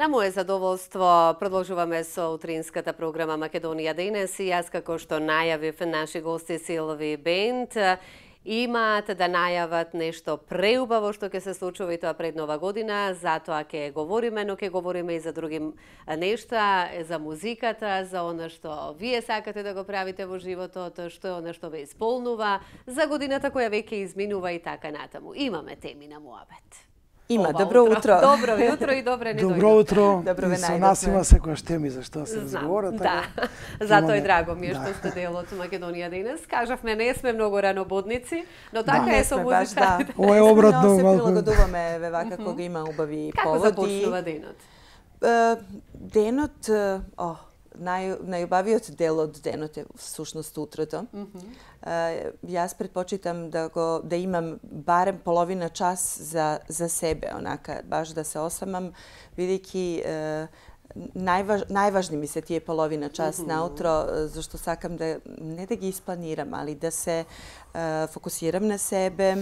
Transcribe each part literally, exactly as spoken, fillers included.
На мое задоволство продолжуваме со утринската програма Македонија денес и јас како што најавив наши гости Силви Бенд имаат да најават нешто преубаво што ќе се случува и тоа пред Нова година, затоа ќе говориме, но ќе говориме и за други нешта, за музиката, за она што вие сакате да го правите во животот, што е она што ве исполнува, за годината која веќе изминува и така натаму. Имаме теми на муабет. Има, Ова добро утро. утро. Добро утро и добре не дојдовте. Добро утро. Добро ве Со нас има секојаш теми за што се разговара. Да, затоа е драго ми е што сте дел од Македонија денес. Кажавме, не сме многу ранобудници, но така да, е со музика. Да. Ова е обратно се малку. прилагодуваме ве вака кога има убави Како поводи. Како започнува денот? Денот, о, нај, најубавиот дел од денот е всушност утрото. Mm -hmm. uh, јас предпочитам да го да имам барем половина час за за себе, онака баш да се осамам, бидејќи uh, најваж, најважни ми се тие половина час mm -hmm. наутро, зашто сакам да не да ги испланирам, али да се uh, фокусирам на себе,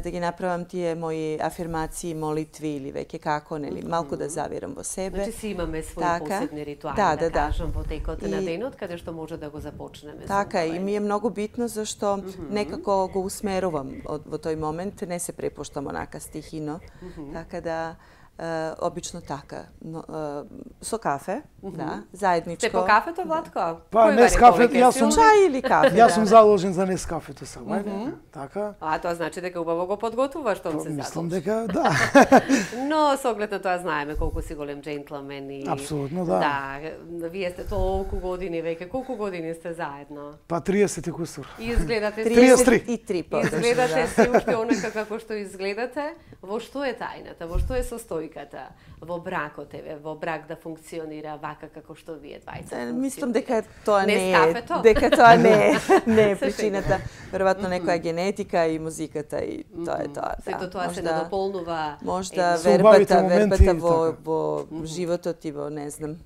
да ги направам тие мои афирмации, молитви или веќе како, нели, малку да завирам во себе. Значи си имаме своји така, посебни ритуали, да, да, да, кажам, во текот и, на денот, каде што може да го започнеме. Така, и ми е многу битно зашто mm -hmm. некако го усмерувам од, во тој момент, не се препуштам онака стихино, mm -hmm. така да Uh, обично така, но, uh, со кафе, mm -hmm. да, заедничко. Сте по кафето, Владко? Па, не с кафе, јас сум чај или кафе. Јас сум заложен за не с кафето само, mm -hmm. така. А тоа значи дека убаво го подготвуваш што се задолжи. Мислам дека да. Но со оглед на тоа знаеме колку си голем джентлмен и апсолутно да. Да, вие сте толку години веќе, колку години сте заедно? Па триесет и кусур. И изгледате триесет и три подошли. Изгледате си уште онака како што изгледате. Во што е тајната? Во што е состојката во бракот еве, во брак да функционира вака како што вие двајца? Мислам дека тоа не, не е, дека тоа не е, не е причината. Веројатно некоја генетика и музиката и тоа е тоа. Сето тоа се надополнува. Можда вербата, вербата во во животот и во не знам.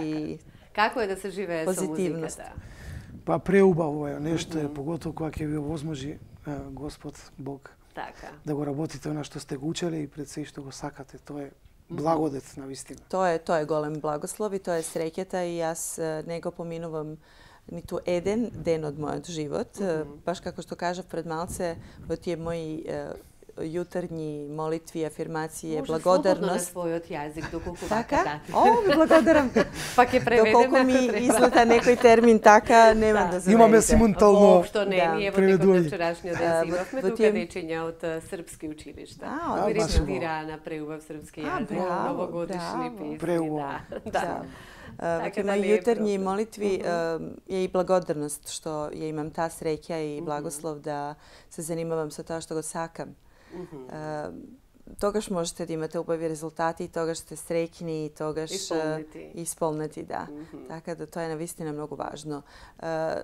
И како е да се живее со музиката? Па преубаво е, нешто е, поготово кога ќе ви овозможи Господ Бог. Така. Да го работите она што сте го учеле и пред се што го сакате, тоа е благодет на вистина. Тоа е тоа е голем благослов и тоа е среќата и јас не го поминувам ниту еден ден од мојот живот, mm -hmm. баш како што кажав пред малце во тие мои јутрни молитви, афирмации, може благодарност. Може слободно на својот јазик, доколку така? Да. О, ви благодарам. Па ќе преведеме. Доколку ми излета некој термин така, нема да, да заверите. Имаме симултално Воопшто не, да. Ние во текот на вчерашниот ден имавме тука тие... дечиња од српски училишта. А, кои рецитира на преубав српски јазик, новогодишни песни. Преубаво. Да. да. Во тие мои јутрни молитви е и благодарност што ја имам таа среќа и благослов да се занимавам со тоа што го сакам. Mm -hmm. uh, тогаш можете да имате убави резултати, тогаш сте среќни и тогаш исполнети, исполнети да. Mm -hmm. Така да тоа е навистина многу важно. Uh,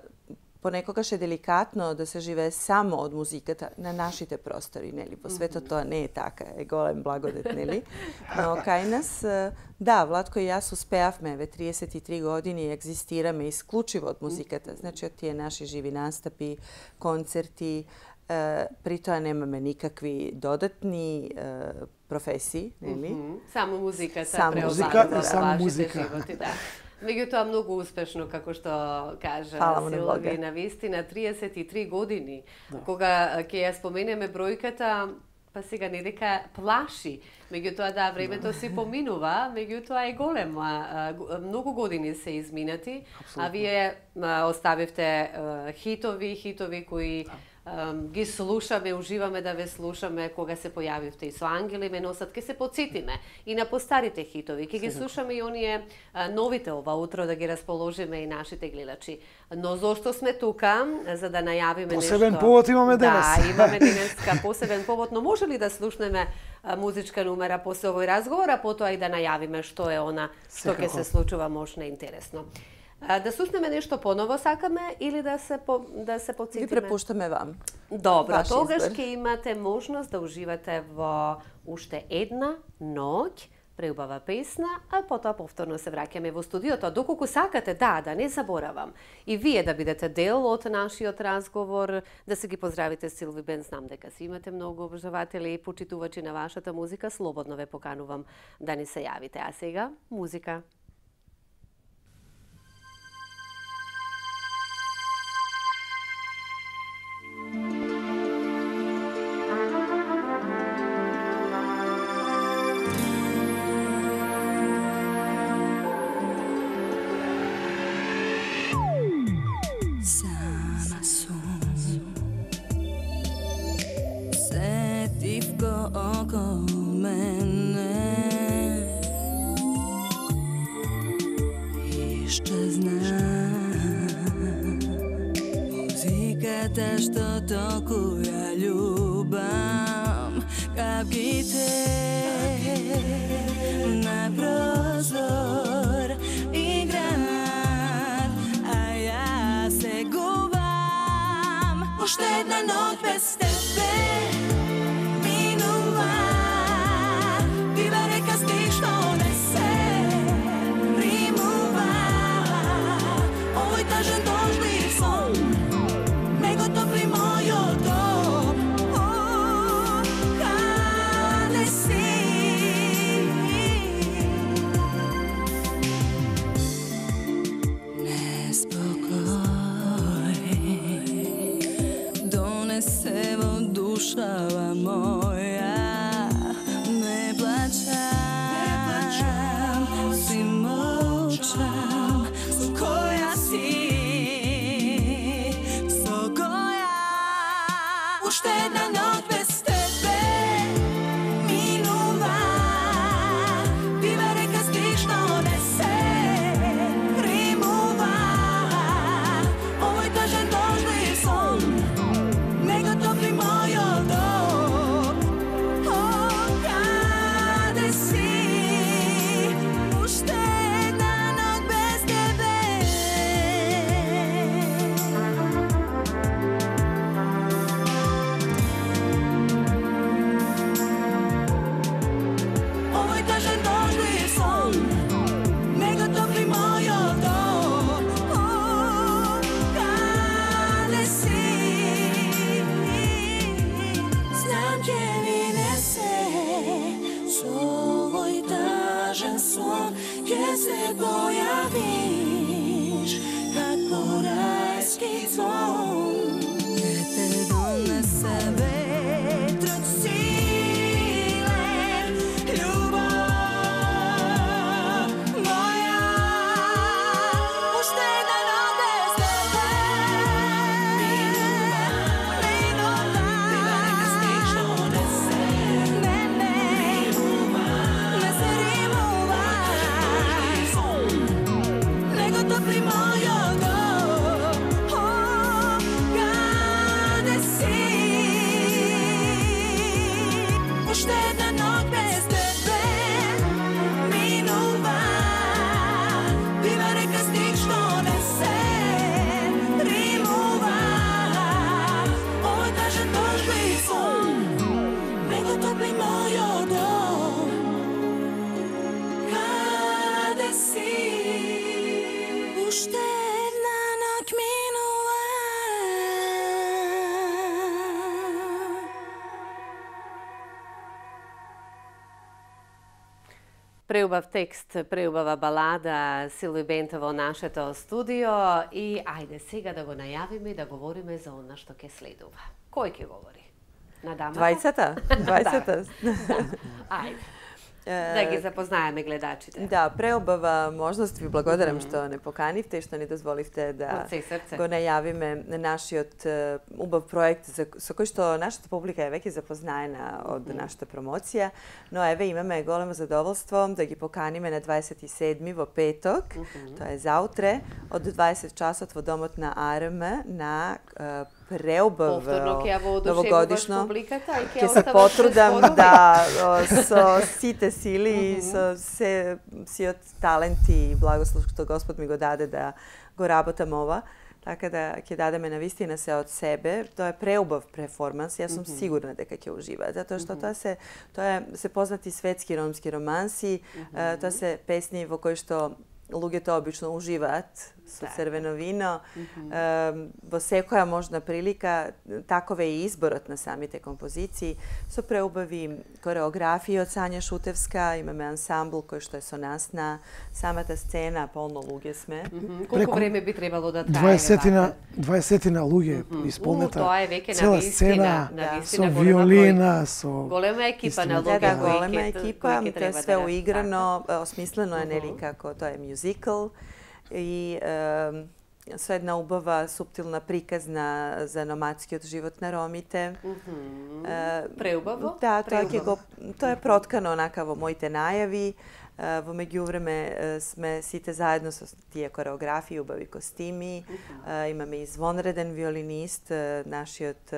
понекогаш е деликатно да се живее само од музиката на нашите простори, нели? Во светот тоа не е така, е голем благодет, нели? Но кај нас, да, Владко и јас успеавме, ве триесет и три години екзистираме исклучиво од музиката, значи од тие наши живи настапи, концерти, Uh, при тоа немаме никакви додатни uh, професии, нели? Mm -hmm. Само музиката само музика и само музика. Животи, да. Меѓутоа многу успешно, како што кажа Силви, на вистина триесет и три години. Да. Кога ќе ја споменеме бројката, па сега не дека плаши, меѓутоа да, времето си поминува, меѓутоа е голема. Многу години се изминати, абсолютно. А вие оставивте хитови, хитови кои ги слушаме, уживаме да ве слушаме кога се појавивте и со Ангели ме носат, ке се подсетиме и на постарите хитови, ке ги слушаме и оние новите ова утро да ги расположиме и нашите гледачи. Но зошто сме тука? За да најавиме нешто. Посебен повод имаме денес. Да, имаме денеска посебен повод, но може ли да слушнеме музичка номера после овој разговор, а потоа и да најавиме што е она што ќе се случува можна интересно. Да слушнеме нешто поново сакаме или да се по, да се подсетиме? Ви препуштаме вам. Добро, Ваш тогаш избор. ќе имате можност да уживате во уште една ноќ преубава песна, а потоа повторно се враќаме во студиото. Доколку сакате, да, да не заборавам, и вие да бидете дел од нашиот разговор, да се ги поздравите Силви Бенд, знам дека си имате многу обожаватели и почитувачи на вашата музика, слободно ве поканувам да ни се јавите. А сега, музика. Što toku ja ljubam, kapkite na prozor i grad, a ja se gubam. Možda jedna noć bez tebe minuva, biva reka stih što nese rimuva, ovoj tažan dožli son, topli mojo dom, oh, kade si? Nespokoj donesevo dušava moja, ne plaćam, si molčam, koja si? Možda jedna noć bez tebe minuva, biva reka stih što nese rimuva, ovoj tažan dožli son, nego topli mojo dom, oh, kade si? Možda jedna noć bez tebe. Se pojaviš kako rajski zvon, gdje te donese vetr od sile, ljubav moja. Možda jedna noć bez tebe minuva, biva reka stih što nese mene rimuva, nese rimuva, nego topli mojo dom, oh, kade si? Možda jedna noć bez tebe minuva, biva reka stih što nese rimuva, ovoj tažan dožli son, nego topli mojo dom, kade si? Možda jedna noć minuva. Преубав текст, преубава балада, Силви Бенд во нашето студио и ајде сега да го најавиме и да говориме за она што ќе следува. Кој ќе говори? На дамата? Двајцата? Двајцата? Ајде. Да ги запознаеме гледачите. Да, преобава можност, ви благодарам mm -hmm. што не поканивте и што ни дозволивте да го најавиме нашиот убав проект за, со кој што нашата публика е веќе запознаена од mm -hmm. нашата промоција, но еве имаме големо задоволство да ги поканиме на дваесет и седми во петок, mm -hmm. тоа е заутре, од дваесет часот во домот на А Р М на преубав новогодишно. Ќе се потрудам да со сите сили и со се сиот талент и благослов што Господ ми го даде да го работам ова. Така да ќе дадеме навистина се од себе. Тоа е преубав перформанс, јас сум mm -hmm. сигурна дека ќе уживаат, затоа што mm -hmm. тоа се тоа е се познати светски ромски романси, mm -hmm. тоа се песни во кои што луѓето обично уживаат со црвено вино. Mm -hmm. Во секоја можна прилика, таков е и изборот на самите композиции, со преубави кореографија од Сања Шутевска, имаме ансамбл кој што е со нас на самата сцена, полно луѓе сме. Mm -hmm. Колку Преку време би требало да трае? дваесетина дваесетина луѓе mm -hmm. исполнета. Тоа е веќе цела сцена, да. Со виолина, со голема екипа на луѓе. Да, да, голема екипа, тоа е све уиграно, осмислено е нели како тоа е мюзикл. И е, со една убава, суптилна приказна за номадскиот живот на ромите. Mm -hmm. е, Преубаво? Да, тоа, ќе го, тоа е проткано онака во моите најави. Е, во меѓувреме сме сите заедно со тие кореографии, убави костими. Mm -hmm. е, имаме извонреден виолинист, нашиот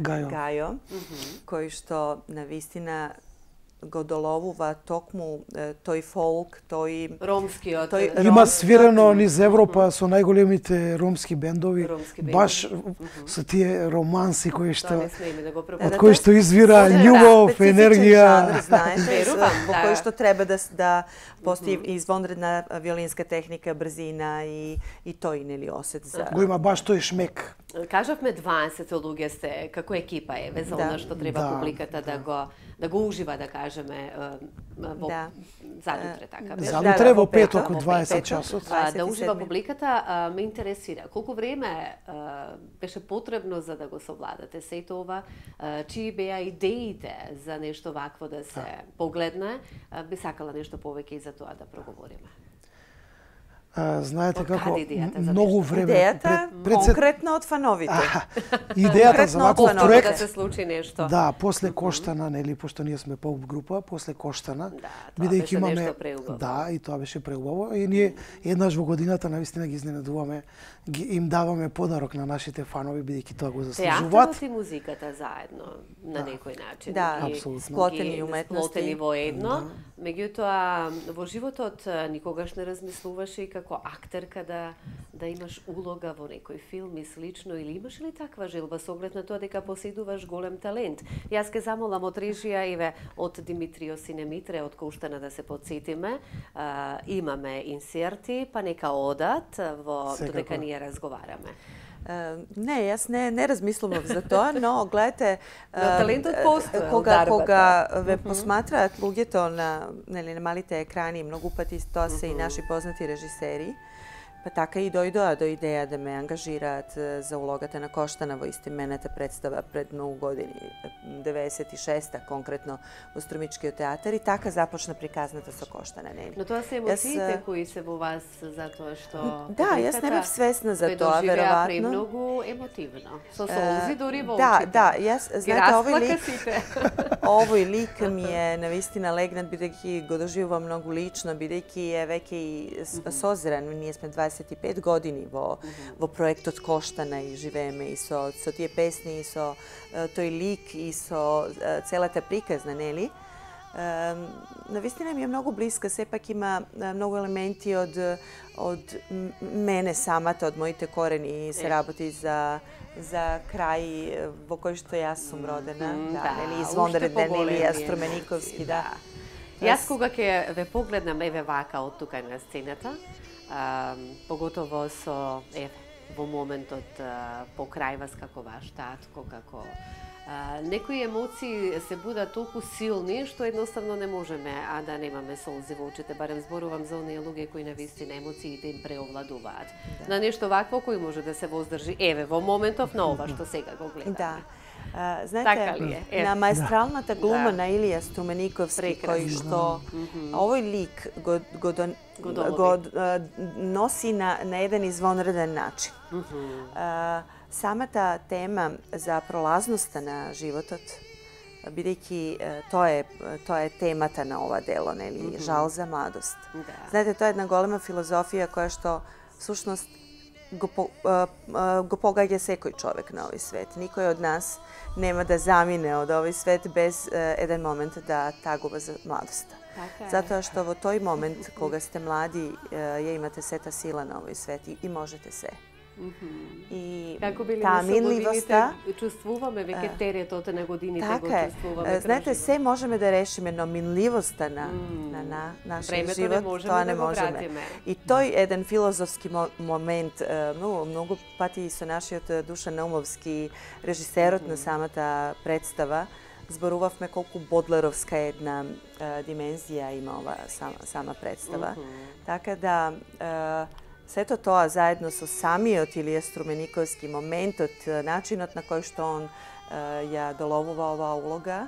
Гајо, Гајо mm -hmm. кој што навистина го доловува токму тој фолк, тој ромскиот. Тој има свирено низ Европа со најголемите ромски бендови, ромски бендови. Баш mm -hmm. со тие романси кои што да го од кои што извира љубов, енергија, знаете, во кој што треба да да постои mm -hmm. извонредна виолинска техника, брзина и и тој нели осет за го има баш тој шмек. Кажавме дваесет луѓе сте, како екипа е за она што треба да, публиката да, да го да го ужива, да кажеме, во да. задутре така. Задутре во петок од дваесет часот. Да ужива публиката, ме интересира колку време беше потребно за да го совладате сето ова, чии беа идеите за нешто вакво да се погледне, би сакала нешто повеќе и за тоа да проговориме. А, знаете како многу време идејата пред, пред конкретно од фановите. А, идејата за ваков проект да се случи нешто. Да, после Коштана, нели, пошто ние сме поп група, после Коштана, да, бидејќи имаме да, и тоа беше преубаво и ние еднаш во годината навистина ги изненадуваме, ги им даваме подарок на нашите фанови бидејќи тоа го заслужуваат. Театарот и музиката заедно на да. некој начин. Да, ги, сплотени уметности, сплотени во едно. Да. Меѓутоа во животот никогаш не размислуваше и како актерка да да имаш улога во некој филм и слично, или имаш ли таква желба со оглед на тоа дека поседуваш голем талент? Јас ке замолам од режија еве од Димитрио Синемитре од Коштана да се потсетиме. А, имаме инсерти, па нека одат во додека ние разговараме. Uh, не, јас не не размислував за тоа, но гледате, uh, талентот постои кога кога ве посматраат луѓето на нели на малите екрани, многу пати тоа се и наши познати режисери. Па така и дојдоа до идеја да ме ангажираат за улогата на Коштана во истимената представа пред многу години, деветдесет и шеста конкретно во Струмичкиот театар, и така започна приказната со Коштана, нели. Но тоа се емоциите јас, кои се во вас затоа што да, јас не бев свесна за тоа, веројатно. Премногу емотивно. Со солзи дури во да, очите. Да, јас знаете овој лик. Овој лик ми е навистина легнат бидејќи го доживувам многу лично, бидејќи е веќе и созрен. Ние сме дваесет и пет години во во проектот Коштана и живееме и со со тие песни и со тој лик и со целата приказна, нели? Навистина ми е многу блиска, сепак има многу елементи од од мене самата, од моите корени, и се работи за за крај во кој што јас сум родена, mm, да, да, нели извонреден Илија Струмениковски, да. Јас кога ќе ве погледнам еве вака од тука на сцената, а, поготово со еве во моментот а, покрај вас како ваш татко, како а, некои емоции се будат толку силни што едноставно не можеме а да немаме солзи во очите, барем зборувам за оние луѓе кои навистина емоциите им преовладуваат. Да. На нешто вакво кој може да се воздржи еве во моментов на ова што сега го гледаме. Да. Uh, знаете, е? на маестралната глума да. на Илија Струмениковски, кој што mm -hmm. овој лик го, го, дон, го, го uh, носи на, на еден извонреден начин. Mm -hmm. uh, самата тема за пролазноста на животот, бидејќи uh, тоа е тоа е темата на ова дело, нели, mm -hmm. жал за младост. Да. Знаете, тоа е една голема филозофија која што всушност го, по, uh, uh, го погаѓа секој човек на овој свет. Никој од нас нема да замине од овој свет без uh, еден момент да тагува за младоста. Така е. Затоа што во тој момент, кога сте млади, uh, ја имате сета сила на овој свет и, и можете се. И како биле таа минливоста, чувствуваме веќе теретот на годините, го чувствуваме. Знаете, се можеме да решиме, но минливоста на на, на нашиот живот, тоа не можеме. И тој еден филозофски момент, многу многу пати со нашиот Душан Наумовски, режисерот на самата представа, зборувавме колку бодлеровска една димензија има ова сама, сама представа. Така да сето тоа заедно со самиот Илија Струмениковски моментот, начинот на кој што он ја доловува оваа улога,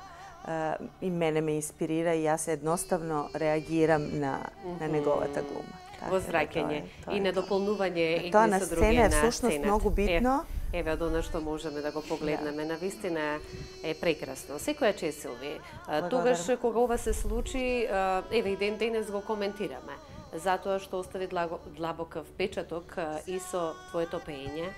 и мене ме инспирира и јас едноставно реагирам на, на неговата глума. Возвраќање и недополнување едни со други на сцена. Тоа на сцена е всушност многу битно. Еве, од она што можеме да го погледнеме, да. Навистина е прекрасно. Секоја чест, Силви. Тогаш кога ова се случи, еве и ден денес го коментираме, затоа што остави длабок впечаток и со твоето пеење,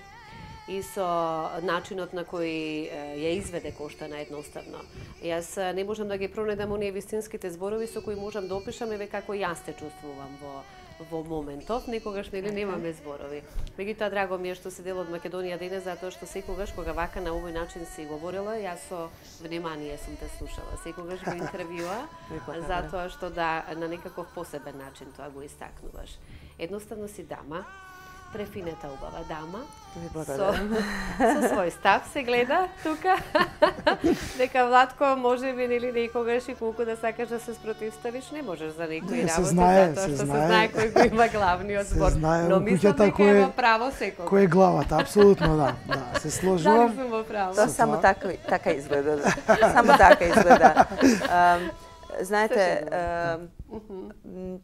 и со начинот на кој ја изведе Коштана едноставно. Јас не можам да ги пронедам оние вистинските зборови со кои можам да опишам еве како јас те чувствувам во во моментов, некогаш нели немаме зборови. Меѓутоа драго ми е што си дел од Македонија денес, затоа што секогаш кога вака на овој начин си говорила, јас со внимание сум те слушала. Секогаш во интервјуа, затоа што да на некаков посебен начин тоа го истакнуваш. Едноставно си дама, префинета убава дама. Со, со свој став се гледа тука. Дека Владко може би нели некогаш и колку да сакаш да се спротивставиш, не можеш за некои работи, затоа што се знае кој го има главниот збор. Но мислам дека е во право секој. Кој е главата, апсолутно да. Да, се сложувам. Дали сум во право? Тоа само така така изгледа. Само така изгледа. Знаете,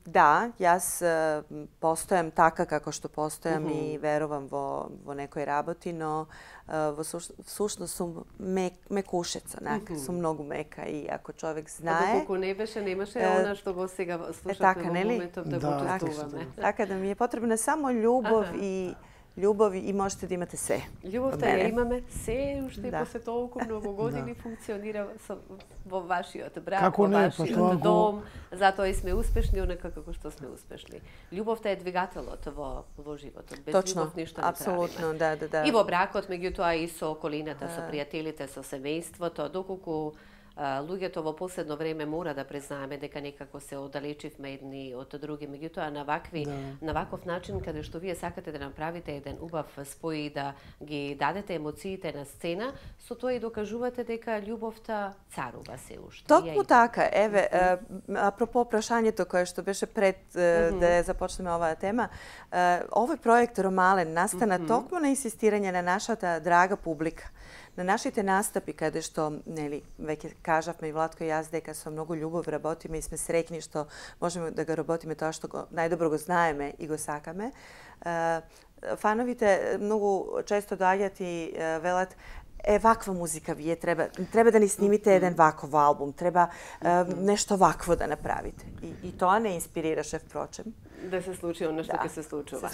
да, јас постојам така како што постојам и верувам во во некои работи, но во сушност сум мек, мекушеца, нака, сум многу мека и ако човек знае... Доколку не беше, немаше она што го сега слушавме во моментов да го чувствуваме. Така да ми е потребна само љубов и љубов и можете да имате се. Љубовта ја имаме се, уште да. После толку многу години да. Функционира со, во вашиот брак, во вашиот дом, затоа и сме успешни онака како што сме успешни. Љубовта е двигателот во во животот. Без Точно, љубов ништо не апсолутно, да, да, да. И во бракот, меѓутоа и со околината, со пријателите, со семејството, доколку луѓето во последно време мора да признаеме дека некако се оддалечивме едни од други, меѓутоа на вакви да. На ваков начин каде што вие сакате да направите еден убав спој и да ги дадете емоциите на сцена, со тоа и докажувате дека љубовта царува се уште. Токму така, еве, апропо прашањето кое што беше пред mm-hmm. да започнеме оваа тема, овој проект Ромален настана mm-hmm. токму на инсистирање на нашата драга публика. На нашите настапи, каде што, нели, веќе кажавме и Владко и јас дека со многу љубов работиме и сме среќни што можеме да го работиме тоа што го, најдобро го знаеме и го сакаме. Фановите многу често доаѓаат и велат е, ваква музика вие треба треба да ни снимите еден ваков албум, треба е, нешто вакво да направите. И, и тоа не инспирираше впрочем. Да се случи оно што ќе се случува.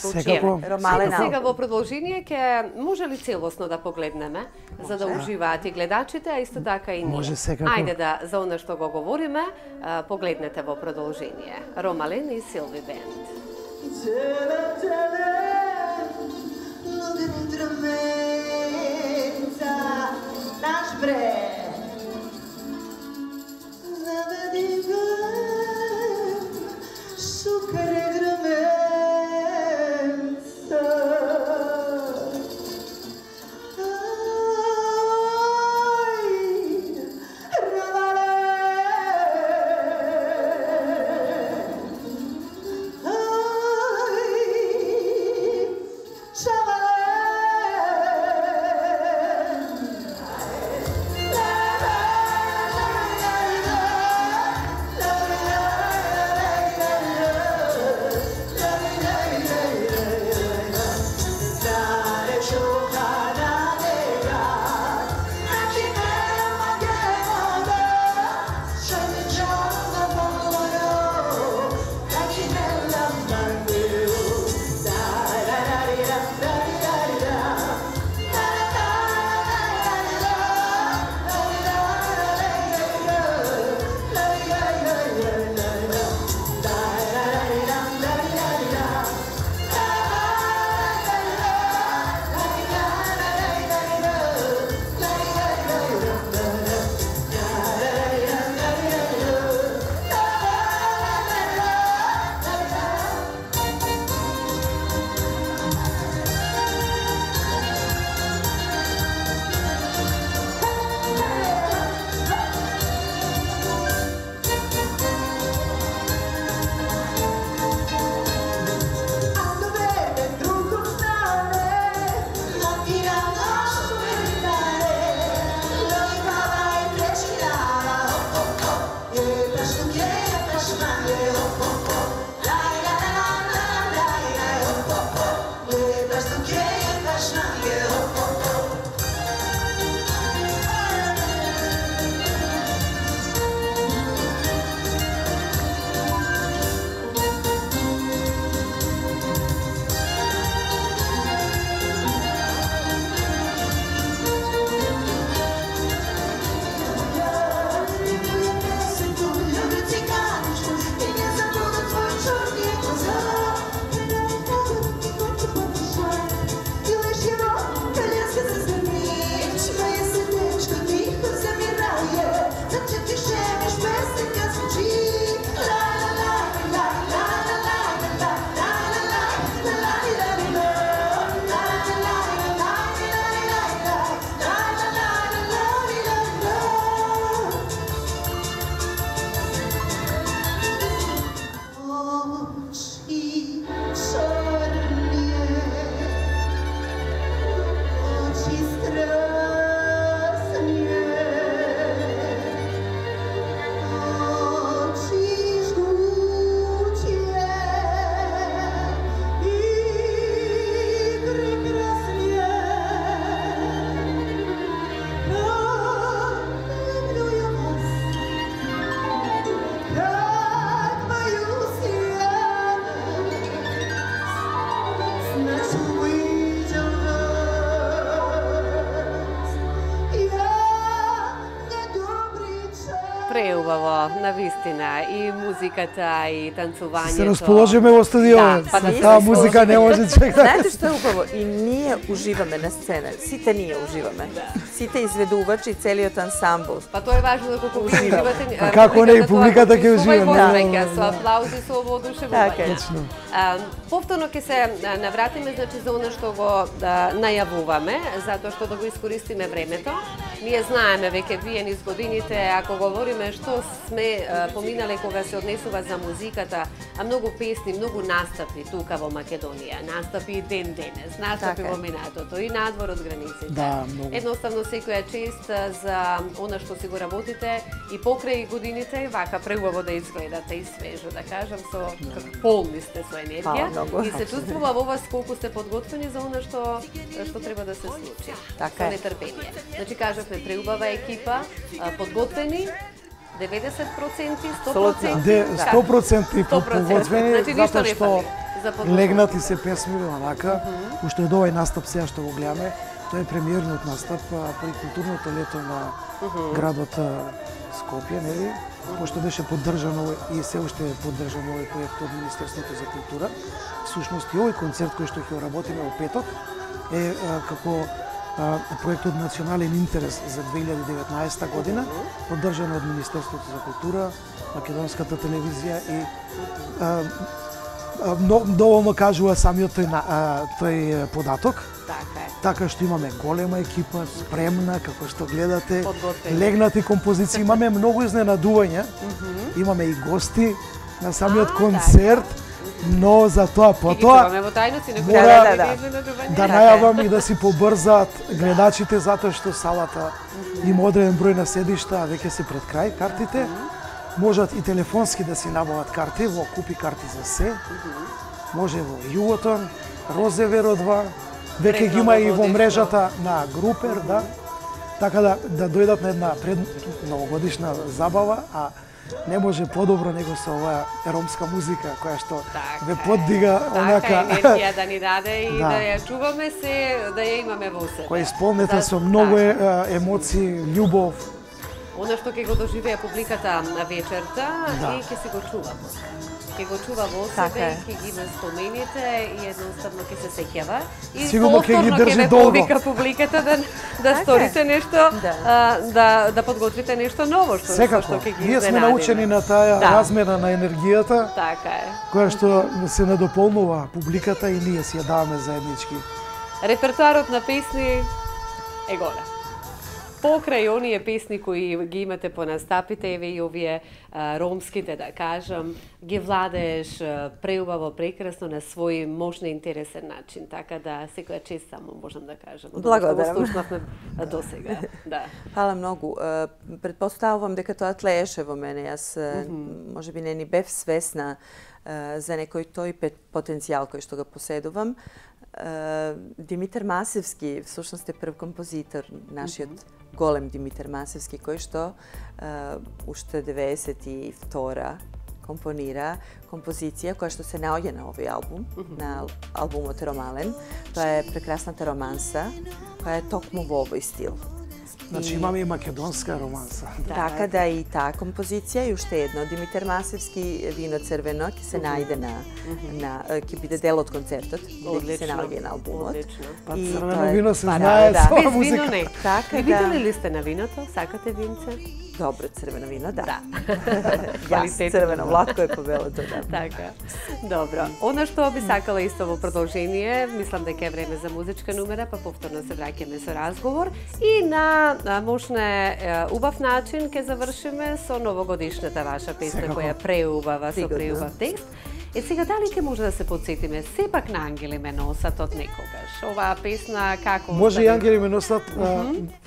Ромален албум. Сега во продолжение ќе може ли целосно да погледнеме, може, за да уживаат и гледачите, а исто така и ние. Може секако. Ајде да за оно што го говориме, погледнете во продолжение. Ромален и Силви Бенд. Наш брег заведи ме сукаре граменца Love преубаво, навистина, и музиката, и танцувањето. Се расположиме во студио. Да, па да таа музика не може човек да... Знаете што е убаво? И ние уживаме на сцена. Сите ние уживаме. Сите изведувачи и целиот ансамбл. Па тоа е важно да колку уживате. Па како не и публиката ќе ужива. Да, со аплаузи, со воодушевување. Точно. Повторно ќе се навратиме, значи, за она што го најавуваме, затоа што да го искористиме времето. Ние знаеме веќе вие низ годините, ако говориме што сме поминале кога се однесува за музиката, а многу песни, многу настапи тука во Македонија, настапи и ден денес, настапи во минатото и надвор од границите. Да, многу. Едноставно секоја чест за она што си го работите и покрај годините, вака преубаво да изгледате и свежо, да кажам, со полни сте со енергија и се чувствува во вас колку сте подготвени за она што што треба да се случи. Така е. Со нетрпение. Значи кажавме преубава екипа, подготвени деветдесет проценти, сто проценти. сто проценти подготвени, значи, затоа што легнати се песми онака, уште од овој настап сега што го гледаме, тоа е премиерниот настап при културното лето на градот Скопје, нели? Пошто беше поддржано и се уште е поддржано овој проект од Министерството за култура. Всушност и овој концерт кој што ќе работиме во петок е како проект од национален интерес за две илјади и деветнаесета година, поддржан од Министерството за култура, Македонската телевизија и а, а, но, доволно кажува самиот тој, а, тој податок. Така е. Така што имаме голема екипа, спремна, како што гледате, подготвени. Легнати композиции, имаме многу изненадувања, имаме и гости на самиот концерт. Но за тоа потоа мора да, да најавам и да си побрзаат гледачите затоа што салата има одреден број на седишта, а веќе се пред крај картите. Можат и телефонски да си набават карти во Купи карти за се. Може во Југотон, Розеверо два, веќе ги има и во мрежата на Групер, да. Така да да дојдат на една пред новогодишна забава, а не може подобро него со оваа ромска музика која што така ве поддига онака. Така енергија да ни даде и да, да ја чуваме се, да ја имаме во себе. Која исполнета да, со многу така. емоции, љубов. Она што ќе го доживее публиката на вечерта да. и ќе се го чува. Ќе го чува во себе, ќе ги има спомените и едноставно ќе се сеќава. И сигурно ќе ги држи долго. Повика публиката да да сторите нешто, да. А, да да подготвите нешто ново што Секако. што ќе ги Ние сме научени на таа да. размена на енергијата. Така е. Која што се надополнува публиката и ние си ја даваме заеднички. Репертоарот на песни е голем. Покрај оние песни кои ги имате по настапите, еве и овие а, ромските, да кажам, ги владееш а, преубаво, прекрасно на свој можно интересен начин, така да секоја чест само можам да кажам. Благодарам. Слушнавме до сега. Да. Фала многу. Предпоставувам дека тоа тлееше во мене. Јас mm -hmm. можеби не ни бев свесна за некој тој потенцијал кој што го поседувам. Димитар Масевски всушност е прв композитор, нашиот mm -hmm. голем Димитар Масевски, кој што uh, уште деветдесет и втора компонира композиција која што се наоѓа на овој албум, mm -hmm. на албумот Ромален. Тоа е прекрасната романса, која е токму во овој стил. Значи имаме и македонска романса. Да. Така да и таа композиција и уште едно Димитар Масевски Вино црвено ќе се најде на на ќе биде дел од концертот, ќе се наоѓа на албумот. Па црвено вино се знае со без музика. Вино не. Така да. Видели ли сте на виното? Сакате винце? Добро црвено вино, да. Да. Јас црвено, Владко е побелото, да. Така. Добро. Она што би сакала исто во продолжение, мислам дека е време за музичка номера, па повторно се враќаме со разговор и на можне убав начин ќе завршиме со новогодишната ваша песна која преубава со преубав текст. Е сега дали ќе може да се подсетиме сепак на Ангели ме носат од некогаш. Оваа песна како може и Ангели ме носат,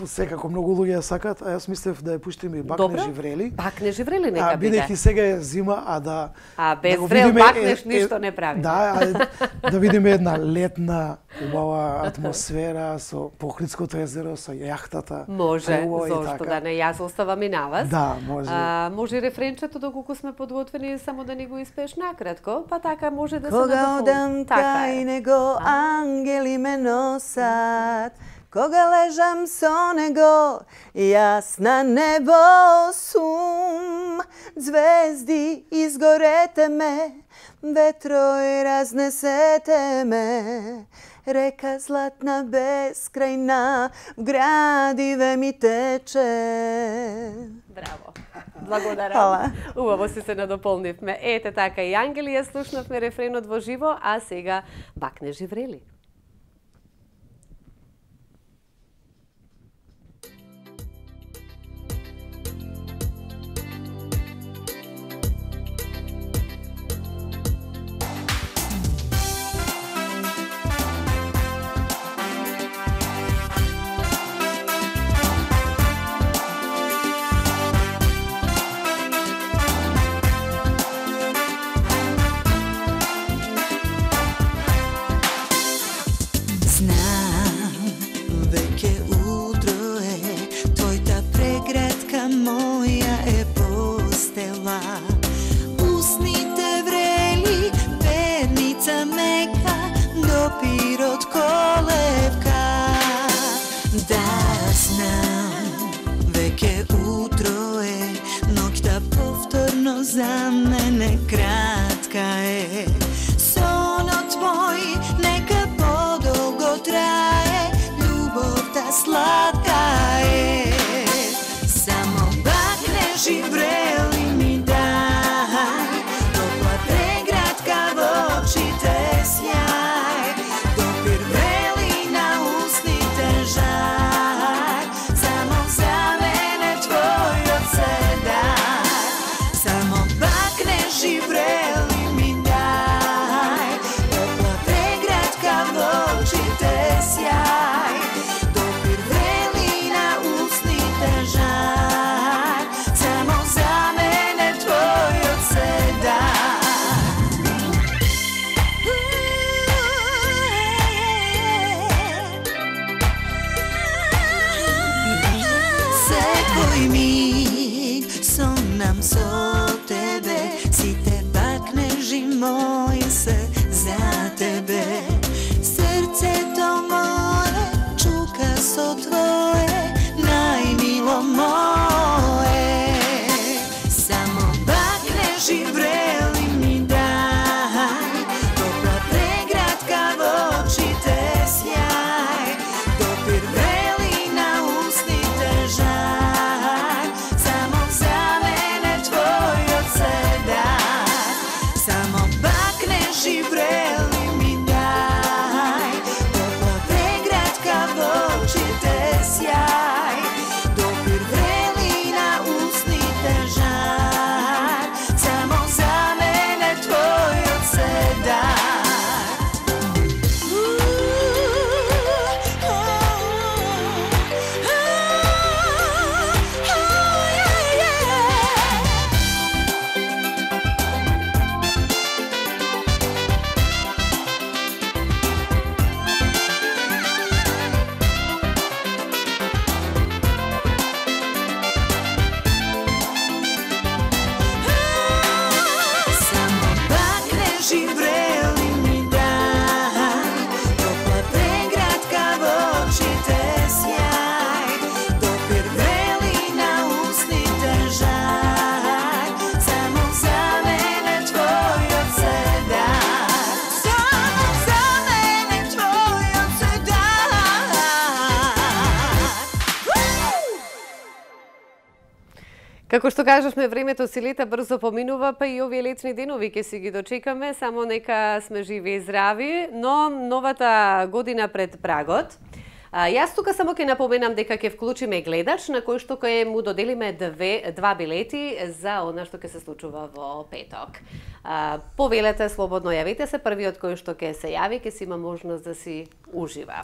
секако многу луѓе ја сакат, а јас мислев да ја пуштиме и Бак не живрели. Бак не живрели нека биде. Бидејќи сега е зима, а да А без да врел бакнеш ништо не прави. Да, да видиме една летна убава атмосфера со Похридското езеро, со јахтата. Може, зошто да не, јас оставам и на вас. Да, може. А, може рефренчето доколку сме подготвени само да ни го испееш накратко, па така може да се Кога одам кај него, ангели ме носат, Кога лежам со него, јасна небо сум, звезди изгорете ме, ветрој разнесете ме, река златна бескрајна, в градиве ми тече. Браво. Благодарам. Хвала. Убаво си се надополнивме. Ете така и Ангели ја слушнавме рефренот во живо, а сега Бакне живрели. За мене кратка е, сонот твој нека подолго трае, љубовта сладка е. Само бакне живрели ми дај, топла преградка во очите сјај, допир врели на устните жар, само за мене твојот се дај. Само бакне живрели ми дај, топла преградка во очите сјај, допир врели на устните жар, само за мене твојот се дај. Секој миг сонам со тебе, сите бакнежи мои се за тебе. Срцето моје чука со твое, најмило мое. Само бакнежи врели ми дај, топла преградка во очите сјај, допир врели на устните жар, само за мене твојот се дај. Само бакне живрели ми дај, топла преградка во очите сјај, допир врели на устните жар, само за мене твојот се дај. Само бакне живрели ми дај, топла преградка во очите сјај, допир врели на устните жар, само за мене твојот се дај. Само за мене твојот се дај. Како што кажавме, времето си лета брзо поминува, па и овие летни денови ќе си ги дочекаме, само нека сме живи и здрави, но новата година пред прагот. А, јас тука само ќе напоменам дека ќе вклучиме гледач на кој што ќе му доделиме две, два билети за она што ќе се случува во петок. А, повелете слободно, јавите се, првиот кој што ќе се јави ќе си има можност да си ужива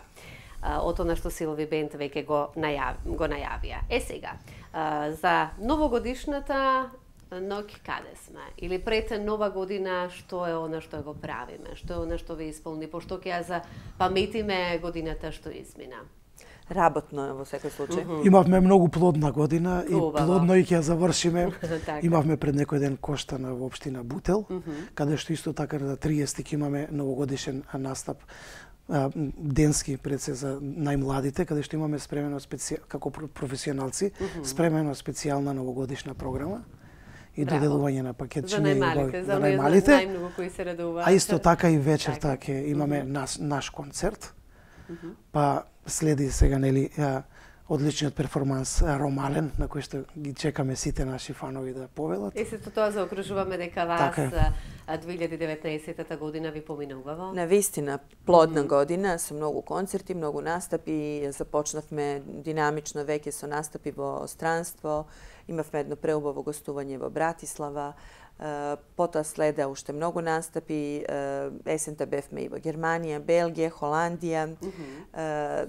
од она што Силови Бенд веќе го, најав, го најавија. Е сега, а, за новогодишната ноќ каде сме? Или пред нова година што е она што го правиме? Што е она што ви исполни? Пошто ќе ја запаметиме годината што измина? Работно е во секој случај. Mm -hmm. Имавме многу плодна година и Убаво. плодно и ќе ја завршиме. Така. Имавме пред некој ден Коштана во општина Бутел, Mm -hmm. каде што исто така на триесети ќе имаме новогодишен настап денски пред се за најмладите, каде што имаме спремено специ... како професионалци, mm -hmm. спремено специјална новогодишна програма и доделување на пакетчиња за најмалите, за, за најмалите. Најмногу кои се радуваат. А исто така и вечерта ќе имаме mm -hmm. наш, наш концерт. Mm -hmm. Па следи сега нели одличниот перформанс Ромален, на кој што ги чекаме сите наши фанови да повелат. И сето тоа заокружуваме дека вас така две илјади и деветнаесетта година ви поминувава. Навистина плодна mm -hmm. година со многу концерти, многу настапи. Започнавме динамично веќе со настапи во странство. Имавме едно преубаво гостување во Братислава. Uh, потоа следа уште многу настапи, uh, есента бевме и во Германија, Белгија, Холандија. Mm -hmm. uh,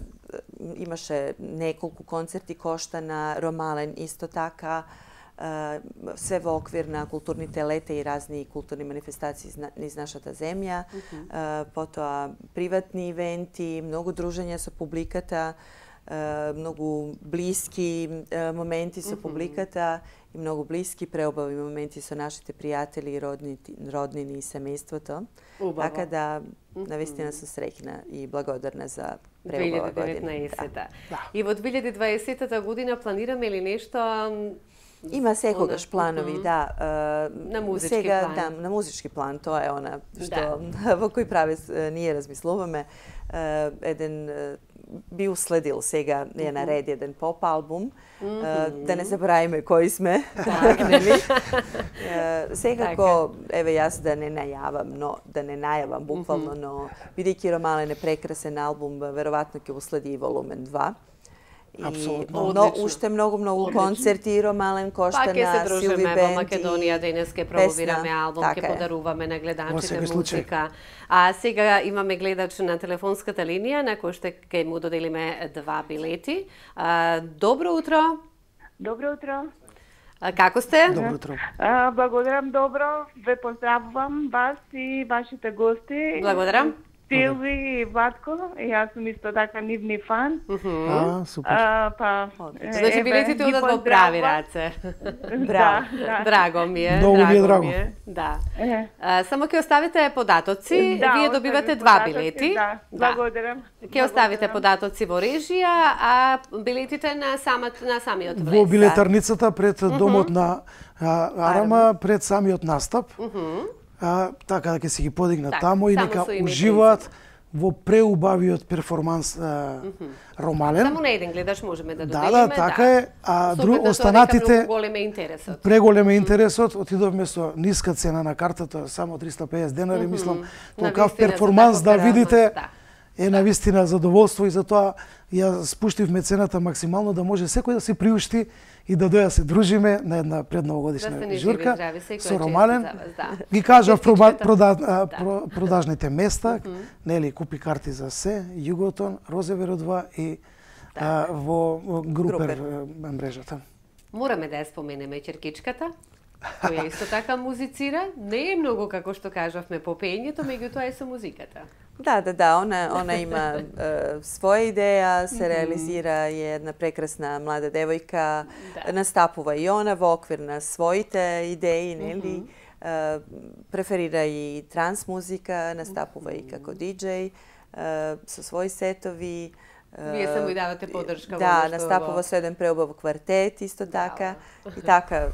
имаше неколку концерти Коштана, Ромален исто така. Uh, све во оквир на културните лета и разни културни манифестации низ нашата земја. Mm -hmm. uh, потоа приватни ивенти, многу дружења со публиката, uh, многу блиски uh, моменти со mm -hmm. публиката и многу блиски преубави моменти со нашите пријатели и родни, роднини и семејството. Убаво. Така да, навистина сум среќна и благодарна за преубава година. две илјади и деветнаесетта. Да. И во две илјади и дваесетта година планираме ли нешто? Има секогаш планови, mm -hmm. да. Uh, на музички сега, план. Да, на музички план, тоа е она што да. во кој правец ние размислуваме. Uh, еден uh, би уследил сега е на ред еден поп албум. Mm -hmm. uh, да не забравиме кои сме. Так, нели? uh, секако, еве јас да не најавам, но да не најавам буквално, mm -hmm. но бидејќи Ромален е прекрасен албум, веројатно ќе уследи и волумен два. И но уште многу многу Одлично. концерти, Ромален Коштана, Силви Бенд. Па ќе се дружиме во Македонија, денес ќе промовираме албум, ќе подаруваме на гледачите музика. А сега имаме гледач на телефонската линија на кој што ќе му доделиме два билети. А, добро утро. Добро утро. А, како сте? Добро утро. А, благодарам добро. Ве поздравувам вас и вашите гости. Благодарам. Силви и Ватко, и јас сум исто така нивни фан. Mm -hmm. А, супер. А, па, значи билетите одат во прави раце. Браво. Да, драго ми е. Многу ми е драго. Ми е. Да. А, само ќе оставите податоци, да, вие добивате два податоци, билети. Да, благодарам. Ќе оставите податоци во режија, а билетите на самот на самиот влез. Во билетарницата пред домот на а, Арама, пред самиот настап. Mm -hmm. А, така да ќе се ги подигнат так, таму и нека уживаат во преубавиот перформанс а, mm -hmm. Ромален. Само на еден гледач можеме да доделиме. Да, да, така да. е. А друг останатите голем е интересот. Преголем е интересот. Отидовме со ниска цена на картата, само триста и песет денари, mm -hmm. мислам, толкав перформанс да видите. Да. Е навистина задоволство и затоа ја спуштивме цената максимално да може секој да се приушти и да доја се дружиме на една предновогодишна да журка здрави, со Ромален. Да. Ги кажав прода, прода, да. продажните места, mm -hmm. нели купи карти за се, Југотон, Розеверо два и а, во Групер, Групер мрежата. Мораме да ја споменеме Черкичката, која исто така музицира. Не е многу како што кажавме по пењето, меѓутоа е со музиката. Да, да, да, она, она има е, своја идеја, се mm -hmm. реализира, е една прекрасна млада девојка, да. Настапува и она во оквир на своите идеи, нели? Mm -hmm. е, преферира и транс музика, настапува mm -hmm. и како диџеј, со своји сетови. Вие само и давате поддршка. Да, настапува со еден преубав квартет, исто така. Да. И така,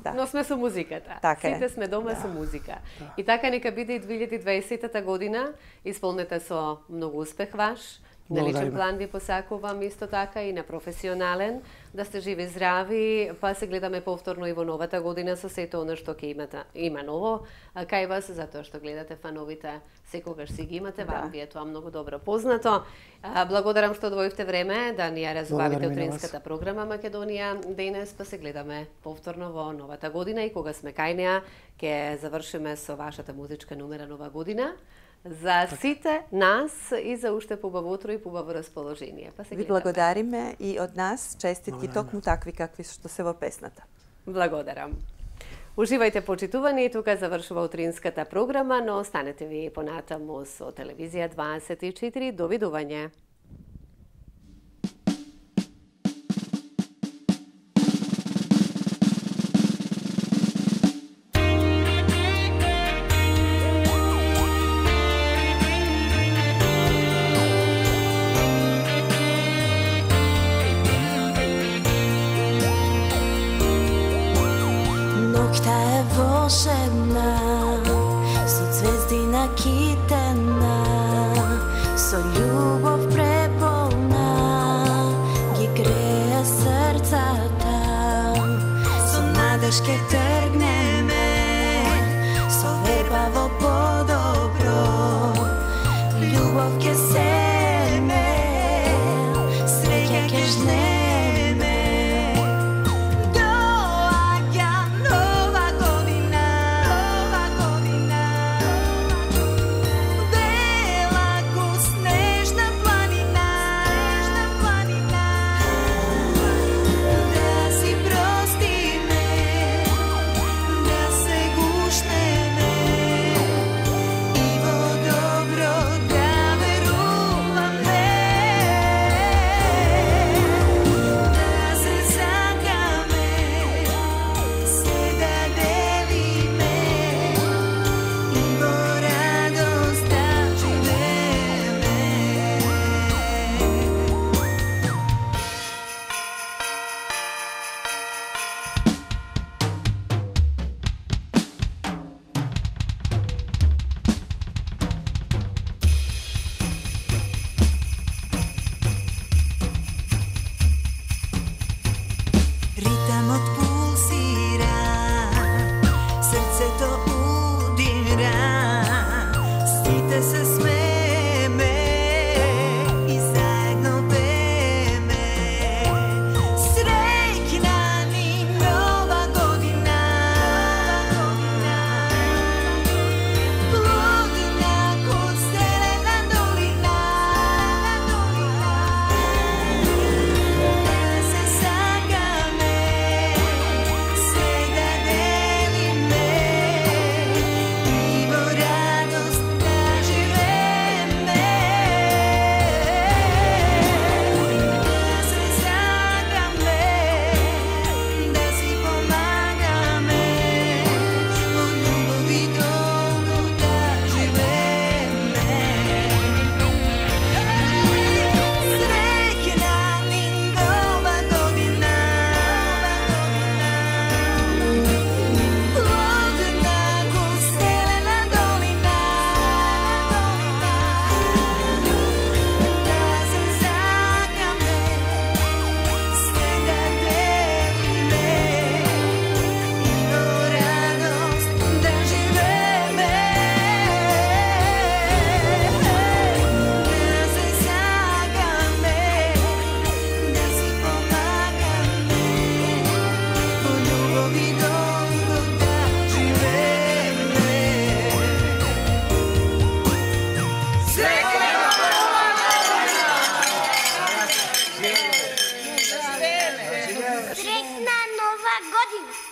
да. Но сме со музиката. Така Сите е. сме дома да. со музика. Да. И така нека биде и две илјади и дваесетта година исполнета со многу успех ваш. На личен план ви посакувам исто така и на професионален. Да сте живи здрави, па се гледаме повторно и во новата година со сето она што ќе имате. Има ново кај вас, затоа што гледате фановите, секогаш си ги имате, вам ви е тоа многу добро познато. Благодарам што одвоивте време да ни ја разубавите утринската програма Македонија денес, па се гледаме повторно во новата година и кога сме кај неа, ќе завршиме со вашата музичка номера Нова година. За сите нас и за уште побаво утро и побаво расположение. Па се ви благодариме и од нас честитки токму такви какви што се во песната. Благодарам. Уживајте почитувани, тука завршува утринската програма, но останете ви понатаму со телевизија дваесет и четири. Довидување. Noćta je volšebna, su zvezdina kitena, so ljubov prepolna, gi greje srca tam. So nadeške trgne me, so vebavo podobro, ljubov ke seme, sreća ke žne. Srećna Nova godina!